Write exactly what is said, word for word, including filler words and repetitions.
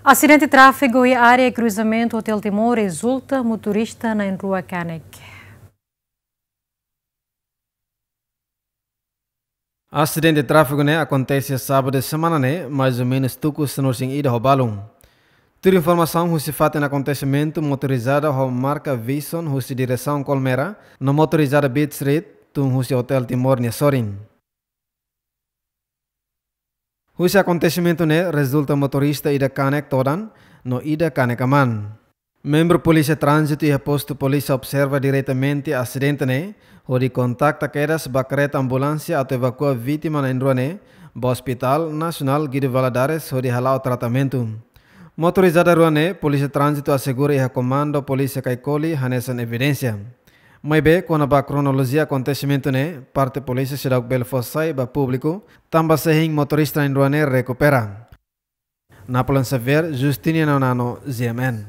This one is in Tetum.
Asidente tráfegu iha área kruzamentu Hotel Timor rezulta motorista na'in-rua kanek. Asidente tráfegu ne'e akontese sábadu semana ne'e, mais ou menus tuku sanulu-resin-ida ho balun. Tuir informasaun husi fatin akontesimentu, motorizada ho marka Vision husi diresaun Colmera no motorizada Beach Street tun husi Hotel Timor nia sorin. Husi akontesimentu ne'e rezulta motorista ida kanek todan no ida kanek aman. Membru Polísia Tránzitu iha postu polísia observa diretamente asidente ne'e, hodi kontakta kedas ba kareta ambulánsia atu evakua vítima na'in-rua ne'e ba Hospital Nasionál Guido Valadares hodi hala'o tratamentu. Motorizada rua ne'e Polísia Tránzitu asegura iha Komandu Polísia Caicoli hanesan evidénsia. Maibé, kona-ba kronolojia akontesimentu ne'e, parte polísia seidauk bele fó sai ba públiku, tanba sei hein motorista na'in-rua ne'e rekupera. Napoleon Xavier, Justiniano Nano, G M N.